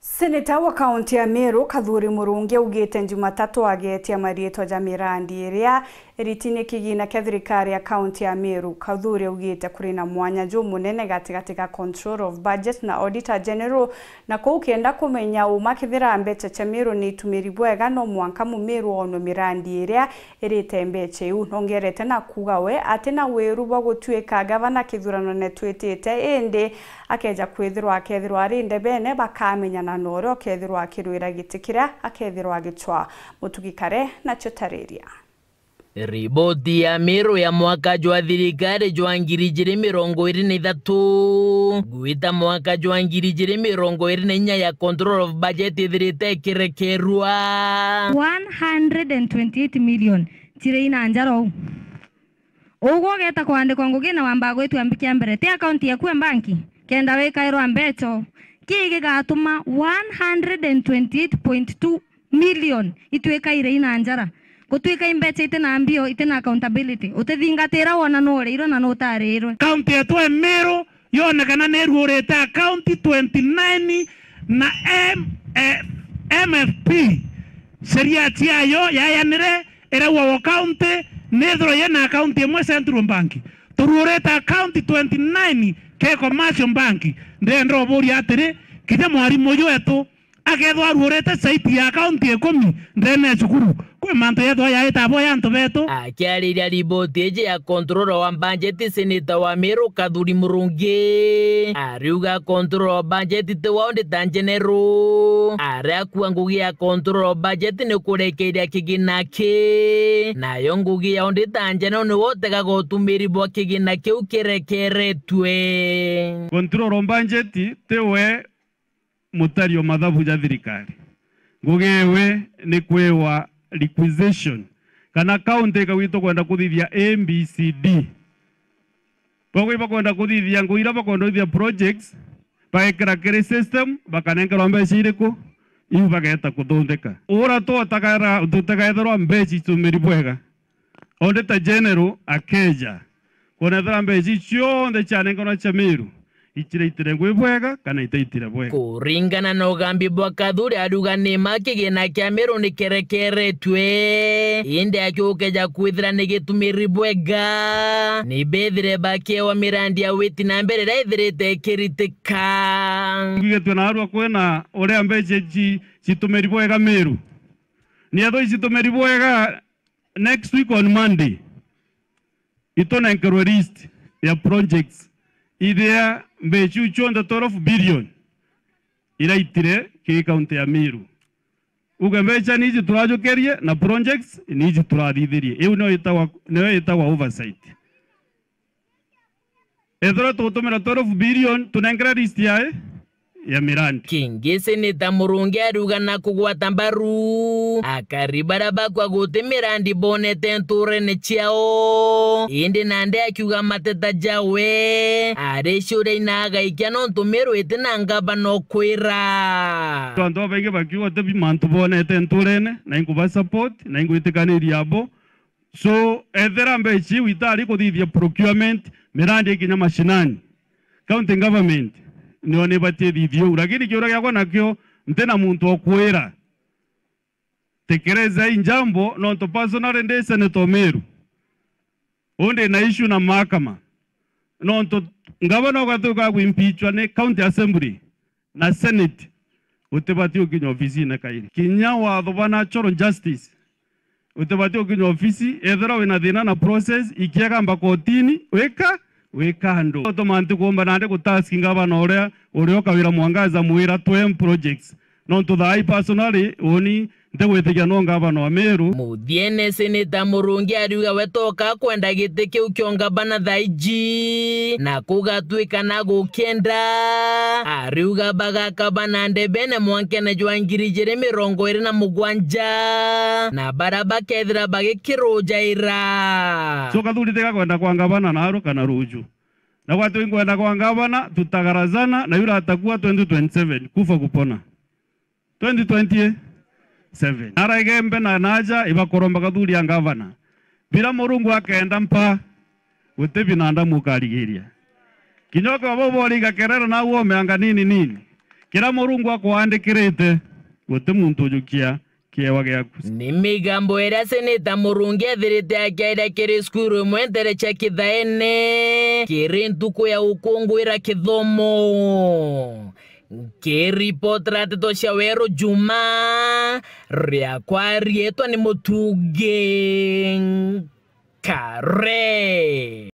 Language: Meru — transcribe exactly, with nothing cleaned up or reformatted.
Seneta wa kaunti ya Meru, Kathuri Murungi, augite Jumatatu ageetia mariitwa ja mirandi iria iritine kigina kia thirikari ya kaunti ya Meru. Kathuri augite kuri na mwanya jumunene gatigati ga Controller of Budget na Auditor General, na kuu kenda kumenya uma kethira mbeca cia Meru ni itumiri bwega, no mwanka Mumeru oonwe mirandi iria irite mbeca iu. Nongerete na kuuga we ati na wiru bwa gutuika gavana kithuranone twitite, indi akeja kwithirwa akethirwa ari ndebene, bakamenyana na uria ukethirwa akirwira giti kiria akethirwa agicwaa. Mutugi Kare nacio tariria. Riboti ya Meru ya mwaka jwa thirikari jwa ngiri ijiri mirongo iri na ithatu gwita mwaka jwa ngiri ijiri mirongo iri na inya ya Control of Budget ithirite ikirekerua. One hundred and twenty-eight million chiri ina njara uu. Ugwe ugeeta kwandikwa ngugi na wambaa gwitwa mbi kia mbere, ti akaunti yaku ya mbanki, kenda wikairwa mbeca. Kii gigatuma one hundred and twenty-eight point two million itwikaire ina njara. Gutwika i mbeca iti na mbio, iti na accountability. Utithingatira wona nuuriirwe na nutaariirwe. Kaunti yetu ya Meru yonekana ni iruurite akaunti twenty-nine na M-, eh, M F P. Sheria ciayo yayanire irauga o kaunti nithirwe yina akaunti imwe Central Bank. Turuurite akaunti twenty-nine ki Commercial Bank. Ndenda uburia atiri, kinya mwarimu uju wetu akethwa aruurite saiti ya akaunti ikumi ndene ya cukuru, kwi mantu yethwa yaita abo ya antu betu. Akiariria riboti iji ya Controller wa Budget, Seneta wa Meru Kathuri Murungi ariuga Controller wa Budget ti wa Auditor General. Aria akua ngugi ya Controller wa Budget ni kurekeria kigina ki, nayo ngugi ya Auditor General niwe utegaga utumiri bwa kigina kiu kirekeretue. Controller wa Budget ti we mutari o mathabu ja thirikari. Ngugi ewe ni kwiwa requisition, kana county ikauga, "Tukwenda kuthithia A B C D." Bagwi bakwenda kuthithia ngugi iria bakwenda kuthithia projects, bagekira kiri system, bakanenkerwa mbeca iriku, iu bageeta kuthundika. Ura tu utakaera-, tutakaethirwa mbeca itumiri bwega. Auditor General akeja, kwonethera mbeca iu cionthe cianenkanwa cia Meru, iciraitire ngui bwega kana itaitire bwega. Kuringana na ugambi bwa Kathuri, ariuga ni ma kigina kia Meru ni kerekeretue, indi akiukeja kwithira ni gitumiri bwega, ni bethire bakiewa mirandi ya witi na mbere iria ithirite ikiritika. Ngwigitue naarua kwina uria mbeca ici citumiri bwega Meru. Ni ethwa icitumiri bwega, next week on Monday, itunenkerwe list ya projects iria mbeca iu cionthe twelve billion iraitire ki kaunti ya Meru. Uge mbeca ni iji turajukirie na projects ni iji turathithirie. Iu niyo itagwa, niyo itagwa oversight. Ethirwa tugutumira twelve billion, tunenkere list yae ya mirandi. Kingi Seneta Murungi ariuga na kugwata mbaru akari baria bakwa guti mirandi bonete nturene ciao, indi nandi akiuga mateta jawe ari ciuria ina agaikia nontu Meru iti na ngavana ukwira. Antu babaingi bakiuga uti bi mantu bonete nturene, na inkuba support, na ingwitikaniria abo. So, ethira mbeca iu itari kuthithia procurement, mirandi ikinya mashinani, county government niyo ni ibatie ithithia uu. Lakini kiuria giakwa nakio, nti na muntu o kwira, tekereza hii njambo, nontu personally ndi senator o Meru. Uu ndi na issue na mahakama. Nontu ngavana ugatuika agwimpichwa ni county assembly na senate, utibati ukinya ofisine kairi. Kinya watho bwa natural justice, utibati ukinya ofisi, ethira wina thina na process, ikiagamba kotini, wika, wika andu. Utuma nti kuumba nandi gutask ngavana uria, uria ukawira Mwangaza mwira twem projects. Nontu thaa ii personally, uni ntigwitikia no ngavana wa Meru. Muthiene, Seneta Murungi ariuga we toka kwenda giti kiu kio ngavana thaa iji, na kugatwika na gukienda. Ariuga bagakabana ndebene mwankene jwa ngiri ijiri mirongo iri na mugwanja, na baria bakethira bagikirujaira. So Kathuri tiga kwenda kwa ngavana naru kana ruju. Na gwatwi kwenda kwa ngavana, tutagarazana, na yura atakuwa twenty twenty-seven, kufa kupona. Twenty twenty-seven. Nara Igembe na naja, ibakoromba Kathuri ya ngavana. Bira Murungu akenda mpa, guti binadamu ukarigiria. Kinya ukaba uboriga kerera na uomeanga nini nini. Kiria Murungu akwaandikirite, guti muntu ujukia kiewa giaku. Ni migambo iria Seneta Murungi ethirite akiaria kiri cukuru imwe ntere cia Kithaene, kiri ntuku ya gukunguira kithomo. Nkiripotera nteto cia Weru Juma, riakwa riitwa ni Mutungi Nkare.